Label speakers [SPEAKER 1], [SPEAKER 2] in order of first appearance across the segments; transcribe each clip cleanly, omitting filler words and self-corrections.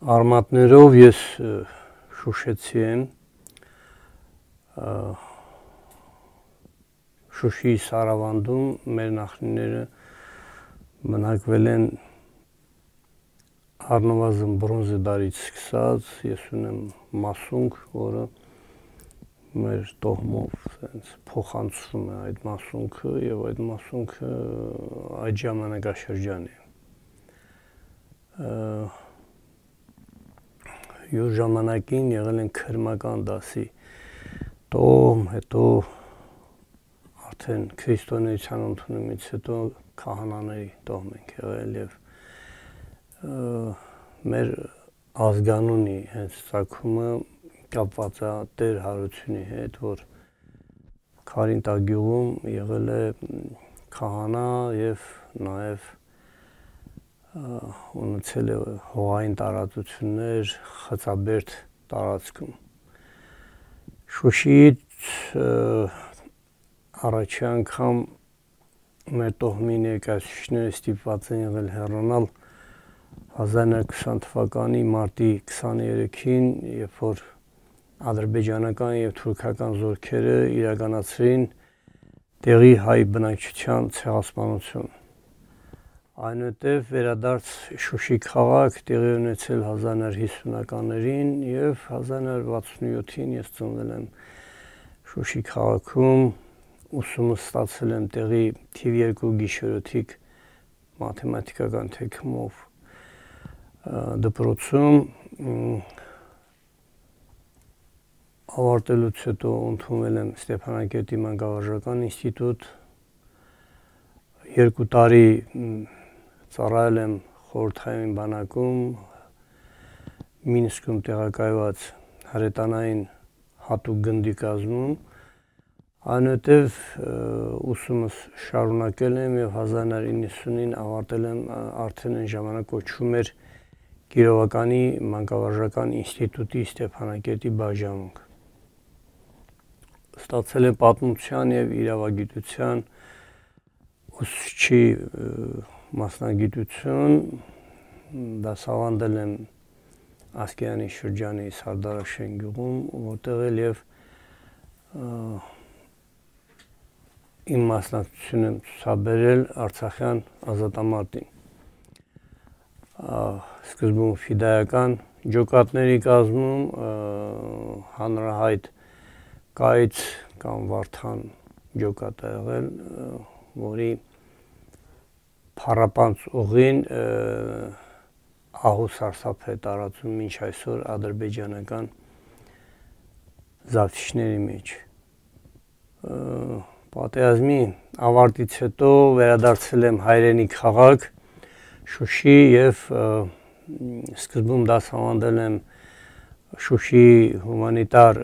[SPEAKER 1] Արմատներով ես շուշեցի եմ, Շուշիի Սարավանդում մեր նախնիները բնակվել են առնվազն բրոնզե դարից սկսած, ես ունեմ մասունք, որը մեր տոհմով փոխանցվում է այդ մասունքը եւ այդ մասունքը այդ ժամանակաշրջանի է։ Յուր ժամանակին եղել են քրմական դասի տոհմ, հետո արդեն քրիստոնեության ընդունումից հետո քահանաների տոհմ ենք եղել եւ մեր ազգանունի հենց ցակումը կապված է Տեր Հարությունի հետ, որ Քարինտագյուղում եղել է քահանա եւ նաեւ ունեցել է հողային տարածություններ Խծաբերդ տարածքում։ Շուշիից առաջի անգամ մեր տոհմի ներկայացուցիչները ստիպված են եղել հեռանալ 1920 թվականի մարտի 23-ին, երբ որ ադրբեջանական եւ թուրքական զորքերը իրականացրին տեղի հայ բնակչության ցեղասպանություն։ Այնուհետև վերադարձ Շուշի քաղաք տեղի ունեցել 1950-ականներին եւ 1967-ին ես ծնվել եմ Շուշի քաղաքում, ուսումս ստացել եմ տեղի թիվ 2 գիշերօթիկ մաթեմատիկական թեքումով դպրոցում, ավարտելուց հետո ընդունվել եմ Ստեփանակերտի մանկավարժական ինստիտուտ, 2 տարի ծառայել եմ խորհրդային բանակում, Մինսկում տեղակայված հրետանային հատուկ գնդի կազմում, այնուհետև ուսումս շարունակել եմ եւ 1990-ին ավարտել եմ արդեն այն ժամանակ կոչվում էր Կիրովականի մանկավարժական ինստիտուտի Ստեփանակերտի բաժանմունք։ Ստացել եմ պատմության եւ իրավագիտության ուսուցչի մասնագիտություն, դասավանդել եմ Ասկերանի շրջանի Սարդարաշեն գյուղում, որտեղ էլ եւ իմ մասնակցությունը ցուցաբերել Արցախյան ազատամարտին։ Սկզբում ֆիդայական ջոկատների կազմում հանրահայտ կայծ կամ Վարդան ջոկատ է եղել, որի փառապանց ուղին ահու սարսափ է տարածում մինչ այսօր ադրբեջանական զավթիչների մեջ։ Պատերազմի ավարտից հետո վերադարձել եմ հայրենի քաղաք Շուշի եւ սկզբում դասավանդել եմ Շուշիի հումանիտար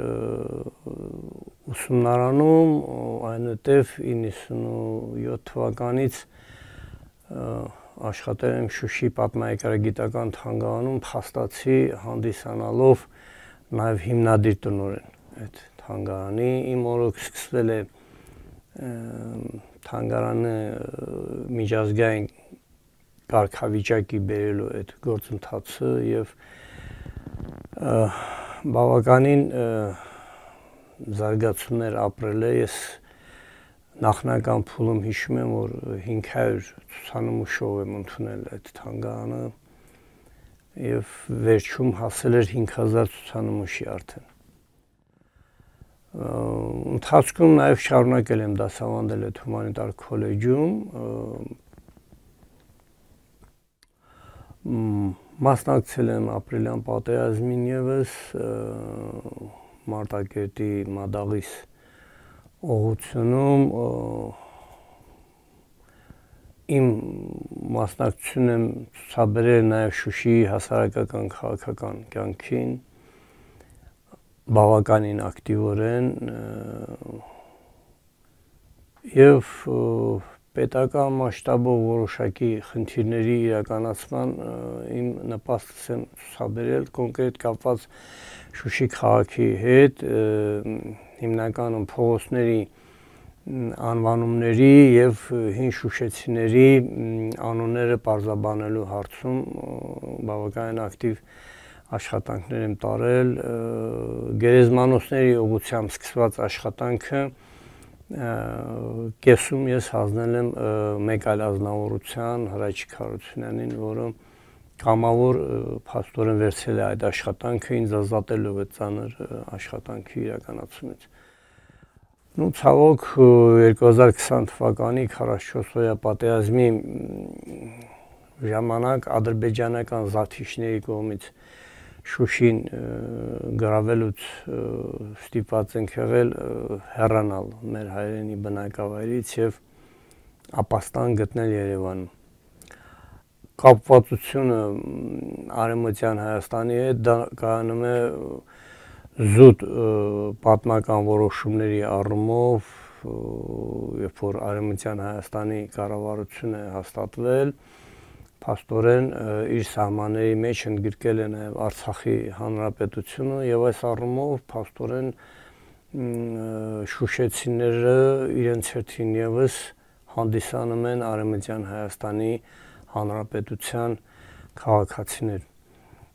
[SPEAKER 1] ուսումնարանում, այնուհետև 97 թվականից աշխատել եմ Շուշի պատմահայկարագիտական թանգարանում, փաստացի հանդիսանալով նաև հիմնադիր տնօրեն այդ թանգարանի։ Իմ օրոք սկսվել է թանգարանը միջազգային կարգավիճակի բերելու այդ գործընթացը եւ բավականին զարգացումներ ապրել է։ Ես նախնական փուլում հիշում եմ, որ 500 ցուցանմուշով եմ ընդունել այդ թանգարանը եւ վերջում հասել էր 5000 ցուցանմուշի արդեն։ Ընթացքում նաեւ շարունակել եմ դասավանդել այդ հումանիտար քոլեջում, մասնակցել եմ ապրիլյան պատերազմին եւս, Մարտակերտի Մադաղիս ուղղությունում, իմ մասնակցությունն եմ ցուցաբերել նաեւ Շուշիի հասարակական քաղաքական կյանքին, բավականին ակտիվորեն եւ պետական մասշտաբով որոշակի խնդիրների իրականացման իմ նպաստս եմ ցուցաբերել կոնկրետ կապված Շուշի քաղաքի հետ, հիմնականում փողոցների անվանումների եւ հին շուշեցիների անունները պարզաբանելու հարցում բավականին ակտիվ աշխատանքներ եմ տարել, գերեզմանոցների ուղղությամբ սկսված աշխատանքը կեսում ես հասնել եմ մեկ այլ ազնվորության Հրաչիկ Հարությունյանին, որը կամավոր փաստորեն վերցրել է այդ աշխատանքը, ինձ ազատելով այդ ծանր աշխատանքի իրականացումից։ Ну ցավոք 2020 թվականի 44-օրյա պատերազմի ժամանակ ադրբեջանական զավթիչների կողմից Շուշին գրավելուց ստիպված ենք եղել հեռանալ մեր հայրենի բնակավայրից եւ ապաստան գտնել Երևանում։ Կապվածությունը Արևմտյան Հայաստանի հետ դա կայանում է զուտ պատմական որոշումների առումով, երբ որ Արևմտյան Հայաստանի կառավարությունը հաստատվել, փաստորեն իր սահմանների մեջ ընդգրկել է նաև Արցախի հանրապետությունը եւ այս առումով փաստորեն շուշեցիները իրենց հերթին եւս հանդիսանում են Արևմտյան Հայաստանի հանրապետության քաղաքացիներ։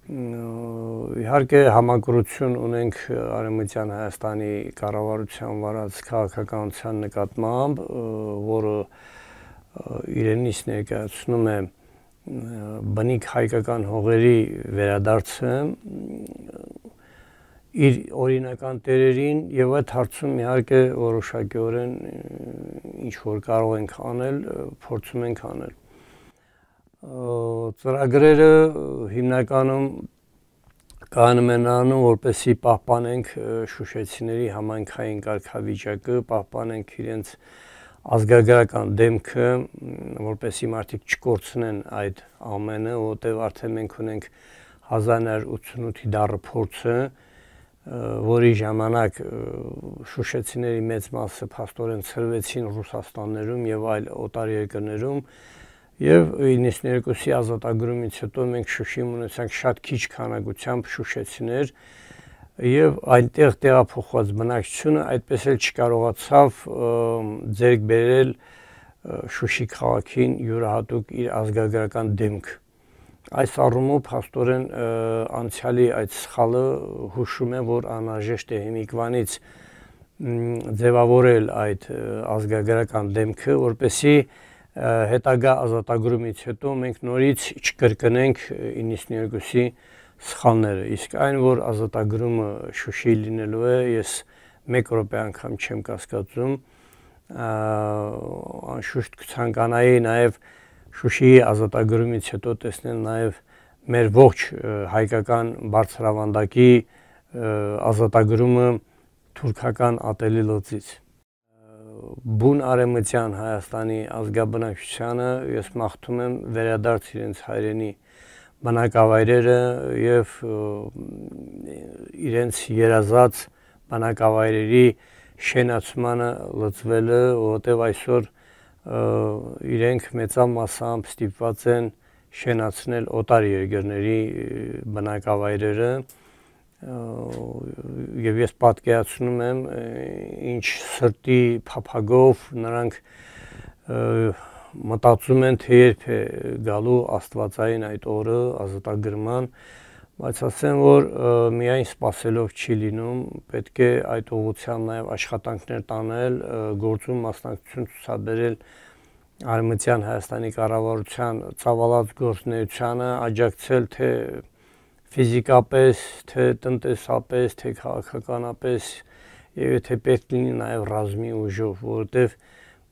[SPEAKER 1] Իհարկե համակրություն ունենք Արևմտյան Հայաստանի կառավարության վարած քաղաքականության նկատմամբ, որը իրենից ներկայացնում է բնիկ հայկական հողերի վերադարձը իր օրինական տերերին եւ այդ հարցում իհարկե որոշակիորեն ինչ որ կարող ենք անել, փորձում ենք անել։ Ծրագրերը հիմնականում կայանում են նրանում, որպեսզի պահպանենք շուշեցիների համայնքային կարգավիճակը, պահպանենք իրենց ազգագրական դեմքը, որպեսզի մարդիկ չկորցնեն այդ ամենը, որտեղ արդեն մենք ունենք 1988-ի դառը փորձը, որի ժամանակ շուշեցիների մեծ մասը փաստորեն ցրվեցին Ռուսաստաններում եւ այլ օտար երկրներում եւ 92-ի ազատագրումից հետո մենք Շուշիում ունեցանք շատ քիչ քանակությամբ շուշեցիներ եւ այնտեղ տեղափոխված բնակչությունը այդպես էլ չկարողացավ ձեռք բերել Շուշի քաղաքին յուրահատուկ իր ազգագրական դեմք։ Այս առումով փաստորեն անցյալի այդ սխալը հուշում է, որ անհրաժեշտ է հիմիկվանից ձևավորել այդ ազգագրական դեմքը, որպեսզի հետագա ազատագրումից հետո մենք նորից չկրկնենք 92-ի սխալները, իսկ այն, որ ազատագրումը Շուշիի լինելու է, ես մեկ րոպե անգամ չեմ կասկածում, անշուշտ կցանկանայի նաև Շուշիի ազատագրումից հետո տեսնել նաև մեր ողջ հայկական բարձրավանդակի ազատագրումը թուրքական ատելի լծից։ Բուն Արևմտյան Հայաստանի ազգաբնակչությանը ես մաղթում եմ վերադարձ իրենց հայրենի բնակավայրերը եւ իրենց երազած բնակավայրերի շենացմանը լծվելը, որտեղ այսօր իրենք մեծամասամբ ստիպված են շենացնել օտար երկրների բնակավայրերը եւ ես պատկերացնում եմ ինչ սրտի փափագով նրանք մտածում են, թե երբ է գալու աստվածային այդ օրը ազատագրման, բայց ասեմ, որ միայն սպասելով չի լինում, պետք է այդ ուղղությամբ նաև աշխատանքներ տանել, գործում մասնակցություն ցուցաբերել Արևմտյան Հայաստանի կառավարության ծավալած գործունեությանը, աջակցել թե ֆիզիկապես, թե տնտեսապես, թե քաղաքականապես եւ եթե պետք լինի նաև ռազմի ուժով, որովհետեւ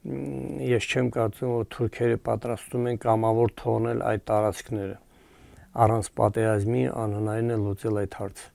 [SPEAKER 1] ես չեմ կարծում, որ թուրքերը պատրաստում են կամավոր թողնել այդ տարածքները։ Առանց պատերազմի անհնարին է լուծել այդ հարցը։